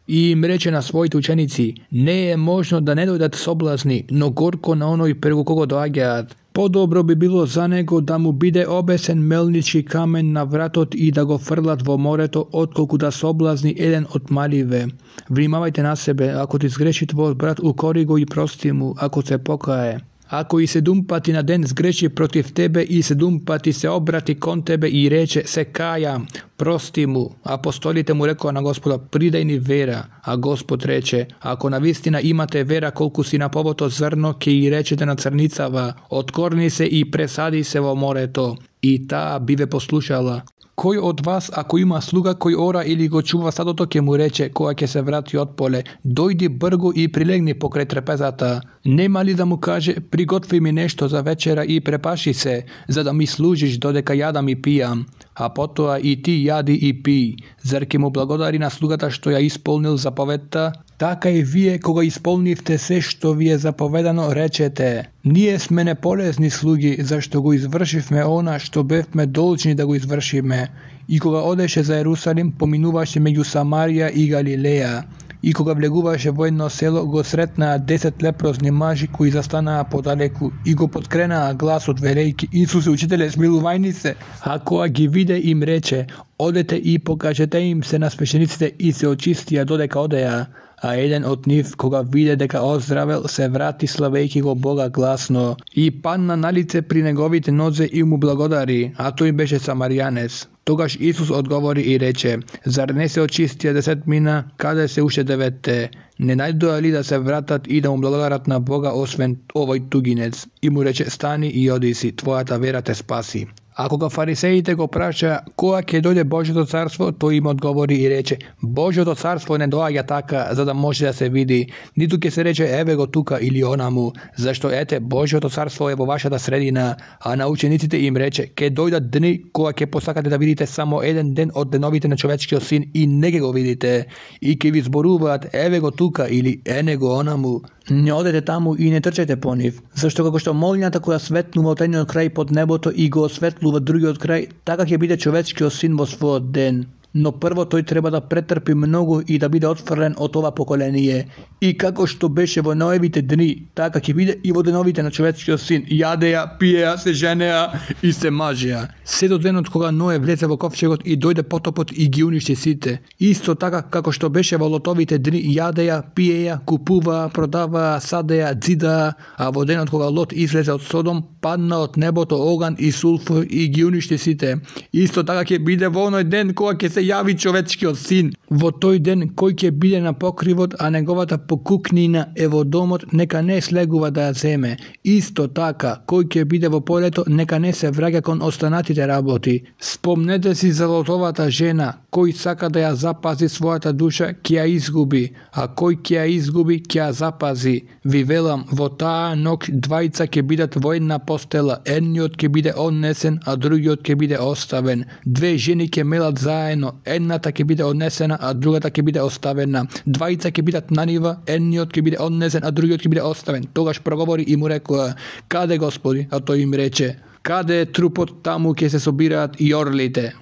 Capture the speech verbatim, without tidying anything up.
И им рече на своите ученици: не е можно да не дојдат соблазни, но горко на оној преку кого доаѓаат. Подобро би било за него да му биде обесен мелнички камен на вратот и да го фрлат во морето, отколку да соблазни еден од маливе. Внимавајте на себе, ако ти сгреши твојот брат, укори го и прости му, ако се покае. Ако и седум пати на ден сгреши против тебе и седум пати се обрати кон тебе и рече: се кајам, прости му. Апостолите му рекоа на Господа: придај ни вера. А Господ рече: ако навистина имате вера колку си на повото зрно, ке и речете на црницава: откорни се и пресади се во морето, и таа би ве послушала. Кој од вас, ако има слуга кој ора или го чува стадото, ќе му рече кога ќе се врати од поле: дојди бргу и прилегни покрај трпезата? Нема ли да му каже: приготви ми нешто за вечера и препаши се, за да ми служиш додека јадам и пијам, а потоа и ти јади и пи? Зар ќе му благодари на слугата што ја исполнил заповедта? Така и вие, кога исполнивте се што ви е заповедано, речете: ние сме неполезни слуги, зашто го извршивме она што бевме должни да го извршиме. И кога одеше за Ерусалим, поминуваше меѓу Самарија и Галилеја. И кога влегуваше во едно село, го сретнаа десет лепрозни мажи кои застанаа подалеку и го подкренаа гласот велејки: Исусе, учителе, смилувајни се. А кога ги виде, им рече: одете и покажете им се на свештениците, и се очистија додека одеа. А еден од нив, кога виде дека оздравел, се врати славејќи го Бога гласно и падна на лице при неговите нозе и му благодари, а тој беше самарјанец. Тогаш Исус одговори и рече: зар не се очистија десетмина, каде се уште деветте? Не најдоа ли да се вратат и да му благодарат на Бога освен овој тугинец? И му рече: стани и оди си, твојата вера те спаси. А кога фарисеите го праша кога ќе дојде Божјото царство, тој им одговори и рече: Божјото царство не доаѓа така за да може да се види, ниту ќе се рече еве го тука или онаму, зашто ете Божјото царство е во вашата средина. А на учениците им рече: ќе дојдат дни кога ќе посакате да видите само еден ден од деновите на човечкиот син и не ќе го видите, и ќе ви зборуваат еве го тука или ене го онаму. Не одете таму и не трчете по нив, зашто како што молњата која светнува од едниот крај под небото и го осветлува другиот крај, така ќе биде човечкиот син во својот ден. Но прво тој треба да претрпи многу и да биде отфрлен од ова поколение. И како што беше во Ноевите дни, така ќе биде и во деновите на човечкиот син. Јадеа, пиеа, се женеа и се мажеа. Се до денот кога Ное влезе во ковчегот и дојде потопот и ги уништи сите. Исто така како што беше во Лотовите дни, јадеа, пиеа, купуваа, продаваа, садеа, дзидаа, а во денот кога Лот излезе од Содом, падна од небото оган и сулфур и ги уништи сите. Исто така ќе биде во оној ден кога ќе се јави човечкиот син. Во тој ден кој ќе биде на покривот, а неговата покукнина е во домот, нека не слегува да ја земе. Исто така, кој ќе биде во полето, нека не се враќа кон останатите работи. Спомнете си за Лотовата жена, кој сака да ја запази својата душа, ќе ја изгуби, а кој ќе ја изгуби, ќе ја запази. Ви велам, во таа ног двајца ќе бидат во една постела, едниот ќе биде однесен, а другиот ќе биде оставен. Две жени ќе мелат заедно, едната ќе биде однесена, а другата ќе биде оставена. Двајца ќе бидат на нива, едниот ќе биде однесен, а другиот ќе биде оставен. Тогаш проговори и му рекоа: каде, Господи? А тој им рече: каде е трупот, таму ќе се собираат и орлите.